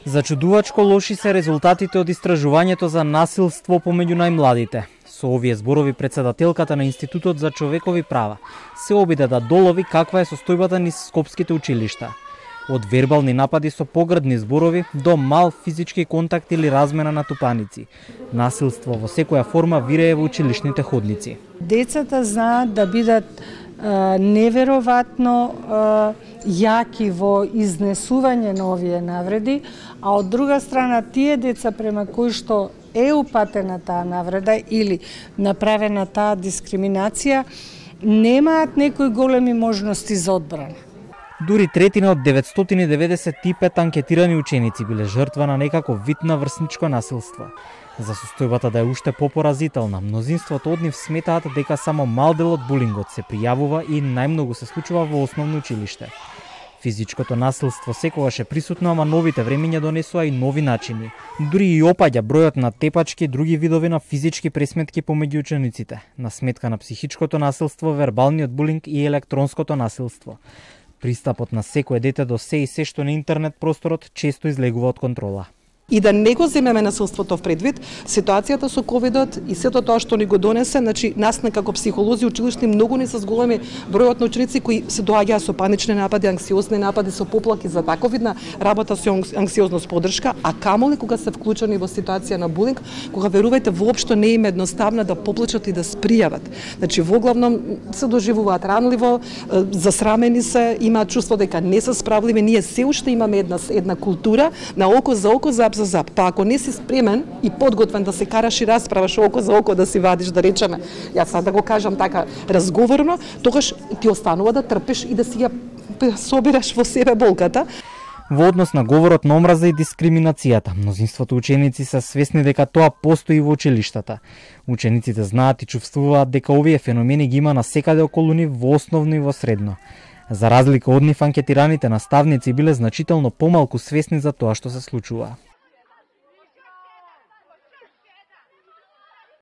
Зачудувачко лоши се резултатите од истражувањето за насилство помеѓу најмладите. Со овие зборови председателката на Институтот за човекови права се обиде да долови каква е состојбата низ скопските училишта. Од вербални напади со погрдни зборови до мал физички контакт или размена на тупаници. Насилство во секоја форма вирее во училишните ходници. Децата знаат да бидат неверојатно јаки во изнесување на овие навреди, а од друга страна тие деца према кои што е упатена таа навреда или направена таа дискриминација немаат некои големи можности за одбрана. Дури третина од 995 анкетирани ученици биле жртва на некаков вид на врсничко насилство. За состојбата да е уште попоразителна, мнозинството од нив сметаат дека само мал дел од булингот се пријавува и најмногу се случува во основно училиште. Физичкото насилство секогаш е присутно, ама новите времиња донесоа и нови начини. Дури и опаѓа бројот на тепачки и други видови на физички пресметки помеѓу учениците, на сметка на психичкото насилство, вербалниот булинг и електронското насилство. Пристапот на секое дете до се и се што на интернет просторот често излегува од контрола. И да не го земеме насилството в предвид, ситуацијата со ковидот и сето тоа што ни го донесе, значи нас како психолози училишни многу не се зголеми бројот на ученици кои се доаѓаат со панични напади, анксиозни напади, со поплаки за таков видна работа со анксиозност поддршка, а камоли кога се вклучени во ситуација на булинг, кога верувајте воопшто не им едноставно да поплачат и да спријават. Значи воглавном се доживуваат ранливо, засрамени се, имаат чувство дека не се справливи, ние се уште имаме една култура на око за око, зап за зап. Па ако не си спремен и подготвен да се караш и расправаш око за око, да си вадиш, да речеме, јас сад да го кажам така разговорно, тогаш ти останува да трпиш и да си ја собираш во себе болката. Во однос на говорот на омраза и дискриминацијата, мнозинството ученици се свесни дека тоа постои во училиштата. Учениците знаат и чувствуваат дека овие феномени ги има насекаде околу нив во основно и во средно. За разлика од нив, анкетираните наставници биле значително помалку свесни за тоа што се случува.